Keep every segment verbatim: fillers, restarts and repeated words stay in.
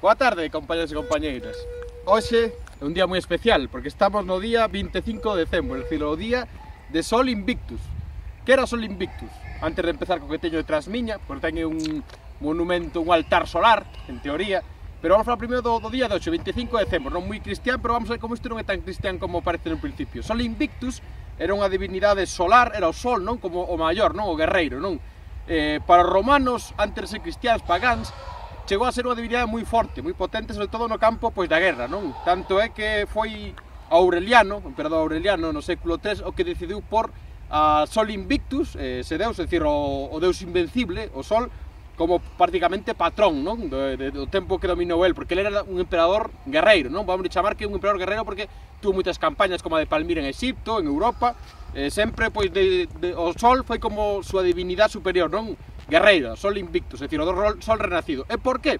Boa tarde, compañeros e compañeiras. Hoxe é un día moi especial porque estamos no día vinte e cinco de decembro, é dicir, o día de Sol Invictus. Que era Sol Invictus? Antes de empezar co que teño detrás miña, porque ten un monumento, un altar solar, en teoría, pero vamos a falar primeiro do, do día de hoxe, vinte e cinco de decembro, non moi cristián, pero vamos a ver como isto non é tan cristián como parece no principio. Sol Invictus era unha divinidade solar, era o sol, non? Como o maior, non? O guerreiro, non? Eh, para os romanos, antes de ser cristiáns, pagáns, chegou a ser unha divinidade moi forte, moi potente, sobre todo no campo pois da guerra, non? Tanto é que foi Aureliano, o emperador Aureliano no século tres, o que decidiu por a Sol Invictus, eh, ese deus, é dicir, o, o deus invencible, o sol, como prácticamente patrón, non? Do, de, do tempo que dominou el, porque ele era un emperador guerreiro, non? Vamos chamar que é un emperador guerreiro porque tuvo moitas campañas como a de Palmira en Egipto, en Europa, eh, sempre, pois, de, de, o sol foi como súa divinidade superior, non? Guerreira, Sol Invictus, é dicir, o do sol renacido. E por qué?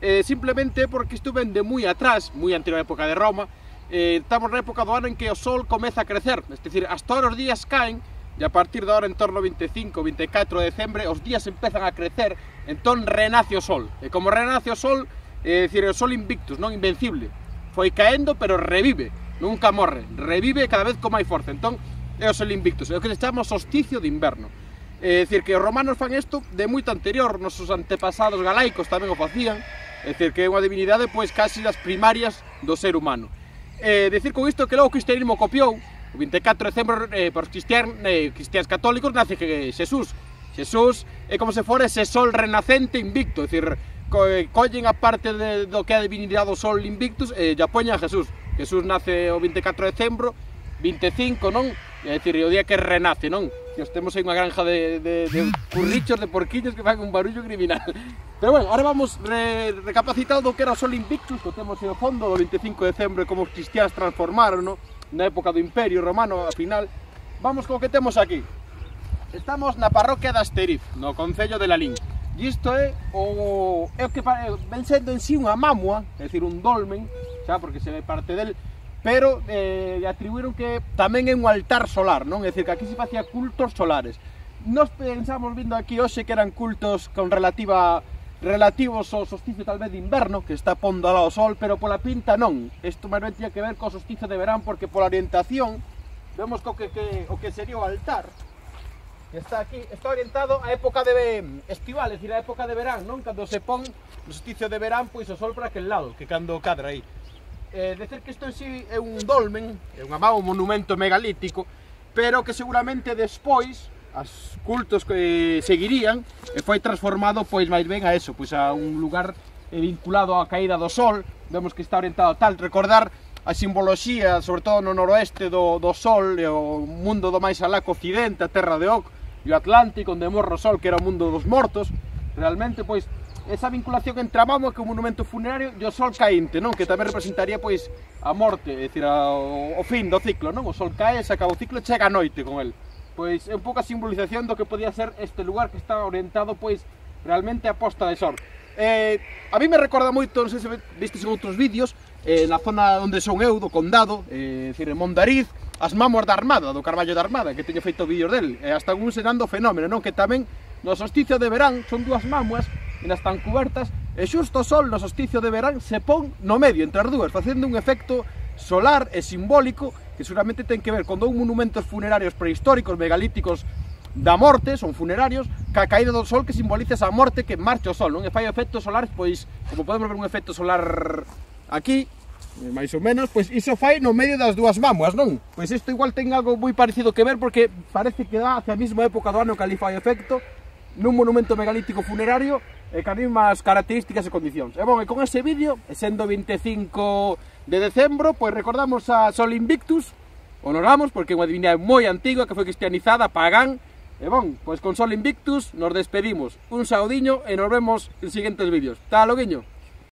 Eh, simplemente porque isto ven de moi atrás, moi anterior á época de Roma, eh, estamos na época do ano en que o sol comeza a crecer, é dicir, hasta ahora os días caen, e a partir de ahora, en torno ao vinte e cinco, vinte e catro de decembre, os días empezan a crecer, entón renace o sol. E como renace o sol, é dicir, o Sol Invictus, non invencible, foi caendo, pero revive, nunca morre, revive cada vez con máis forza, entón é o Sol Invictus, é o que se chama solsticio de inverno. É dicir, que os romanos fan isto de moito anterior, nosos antepasados galaicos tamén o facían, é dicir, que é unha divinidade pois casi das primarias do ser humano. É dicir con isto que logo o cristianismo copiou, o vinte e catro de decembro, eh, por cristián, eh, cristiáns católicos nace que Xesús. Xesús é como se fora ese sol renacente invicto, é dicir, co, eh, collen a parte de, do que é a divinidade do Sol Invictus e eh, ya poñen a Xesús. Xesús nace o vinte e catro de decembro, vinte e cinco, non? É dicir, o día que renace, non? Que os temos aí unha granja de, de, de currichos, de porquiños que fan un barullo criminal. Pero bueno, ahora vamos re, recapacitado do que era o Sol Invictus, que temos aí ao fondo do vinte e cinco de decembro, como os cristiáns transformaron, non? Na época do Imperio Romano, ao final. Vamos co que temos aquí. Estamos na parroquia de Asteriz, no concello de Lalín. E isto é o, é o que ven sendo en sí unha mamua, é dicir, un dolmen, xa, porque se ve parte del, pero eh, atribuíron que tamén é un altar solar, non? É dicir, que aquí se facía cultos solares. Nos pensamos vindo aquí hoxe que eran cultos con relativa relativos ao solsticio tal vez de inverno, que está pondo ao sol, pero pola pinta non. Isto máis ben tiña que ver co solsticio de verán, porque pola orientación vemos co que, que, o que sería o altar, que está aquí, está orientado á época de estival, é dicir, á época de verán, non? Cando se pon o solsticio de verán, pois o sol para aquel lado, que cando cadra aí. Eh, decir que isto en sí é un dolmen, é unha má, un monumento megalítico, pero que seguramente despois os cultos que seguirían e foi transformado pois máis ben a eso, pois a un lugar vinculado á caída do sol. Vemos que está orientado a tal, recordar a simboloxía, sobre todo no noroeste do, do sol, e o mundo do máis alá co occidente, a terra de Oc, e o Atlántico, onde morre o sol, que era o mundo dos mortos. Realmente, pois, esa vinculación entre a mamua, que é un monumento funerario, e o sol caínte, non? Que tamén representaría, pois, a morte, é dicir, a, o, o fin do ciclo, non? O sol cae, se acaba o ciclo e chega a noite con el. Pois é un pouco a simbolización do que podía ser este lugar que está orientado, pois, realmente a posta de sol. Eh, a mí me recorda moito, non sei se vistes en outros vídeos, eh, na zona onde son eu, do condado, eh, decir, en Mondariz, as mamuas da Armada, do Carballo da Armada, que teño feito vídeos del, e hasta un ensinando o fenómeno, non? Que tamén no solsticio de verán son dúas mamuas e nas están cubertas, e xusto o sol no solsticio de verán se pon no medio entre as dúas, facendo un efecto solar e simbólico que seguramente ten que ver con dous monumentos funerarios prehistóricos, megalíticos da morte, son funerarios, que a caída do sol que simboliza esa morte que marcha o sol, non? E fai efectos solares, pois, como podemos ver un efecto solar aquí, máis ou menos, pois iso fai no medio das dúas mamuas, non? Pois isto igual ten algo moi parecido que ver, porque parece que dá hacia a mesma época do ano que ali fai efecto, nun monumento megalítico funerario, e ca mesmas características e condicións. E bon, e con ese vídeo, e sendo vinte e cinco de decembro, pois recordamos a Sol Invictus, honoramos, porque é unha divinidade moi antiga, que foi cristianizada, pagán. E bon, pois con Sol Invictus nos despedimos. Un saudiño e nos vemos en siguientes vídeos. Tá, loguiño?